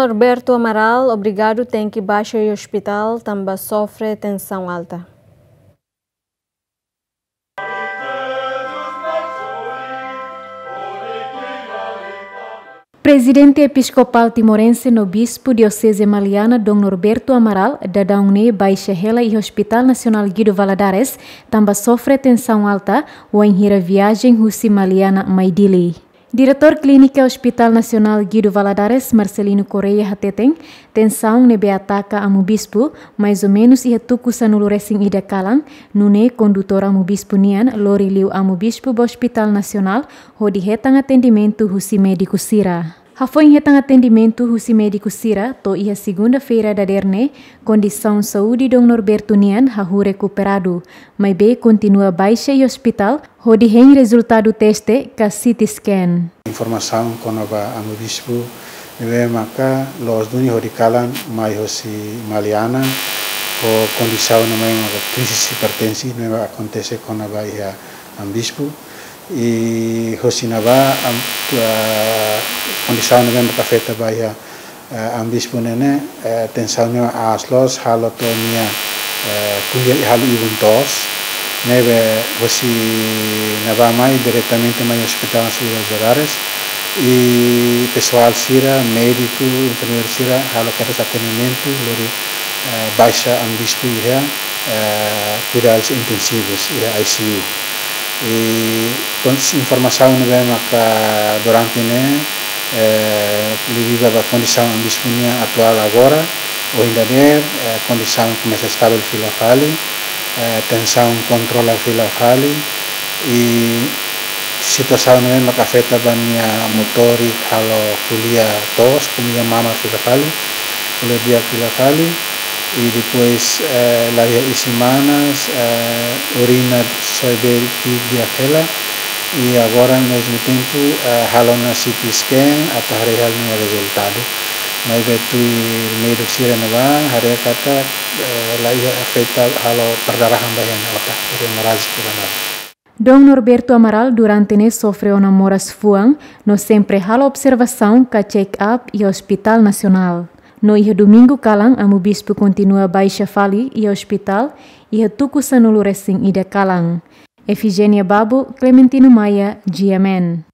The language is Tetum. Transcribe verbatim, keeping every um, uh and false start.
Norberto Amaral obrigadu tenke baixa iha ospitál tanba sofre tensaun alta. Prezidente Episkopál Timorense no Bispu Dioseze Maliana, Dom Norberto Amaral, daudaun ne'e baixa hela iha Hospital Nasionál Guido Valadares, tanba sofre tensaun alta, wainhira viajen husi Maliana mai Dili. Diretór Klínika Hospital Nasionál Guido Valadares, Marcelino Correia, hateten, tensaun ne'ebé ataka Amu Bispu, mais ou menus iha tuku sanulu-resin-ida kalan, nune'e kondutór Amu Bispu nian lori liu Amu Bispu ba Hospital Nasionál, hodi hetan atendimentu husi médiku sira. Hafoin hetan atendimentu husi médiku sira, to'o iha segunda-feira dadeer ne'e, kondisaun saúde Dom Norberto nian hahú rekuperadu, maibé kontinua baixa iha ospitál, hodi hein rezultadu teste ka C T scan. Informasaun kona-ba Amu Bispu ne'ebé maka loos duni hodi kalan mai hosi Maliana, ho kondisaun ne'ebé maka krisis hipertensi ne'ebé akontese kona-ba iha Amu Bispu. I hosi ne'ebá, am, ah, kondisaun ne'ebé maka afeta ba iha, eh, Amu Bispu ne'e ne'e, eh, tensaun ne'e aas loos halo to'o nia, eh, ko'alia i halo ibun toos, ne'ebé hosi ne'ebá mai diretamente mai Hospital Nasionál Valadares, i pesoál sira, médiku, enfermeiru sira, halo kedas atendimentu, lori, eh, baixa Amu Bispu iha, eh, kuidadus intensivus, iha I C U. I kon-, informasaun ne'ebé maka durante ne'e, eh, liuliu ba kondisaun Amu Bispu nian atuál agora, ohin dadeer, eh, kondisaun komesa estavel fila fali, eh, tensaun kontrola fila fali, i situasaun ne'ebé maka afeta ba nia motórik halo ko'alia toos, ko'alia mama fila fali, ko'alia di'ak fila fali, i depois, eh, laiha isin-manas, eh, urina soe bee ki'ik di'ak hela, i agora mezmu tempu, eh, halo ona C T scan atu haree hela nia rezultadu. Maibé tuir médiku sira ne'ebá haree katak, eh, laiha afeta halo perdarahan ba iha nia otak, hemorragia pulmonar. Dom Norberto Amaral durante ne'e sofre ona moras fuan, no sempre halo observasaun ka check-up iha Hospital Nasionál. No iha Domingu kalan, Amu Bispu kontinua baixa fali iha ospitál, iha tuku sanulu-resin-ida kalan. Efigénia Babo, Clementino Maia, G M N.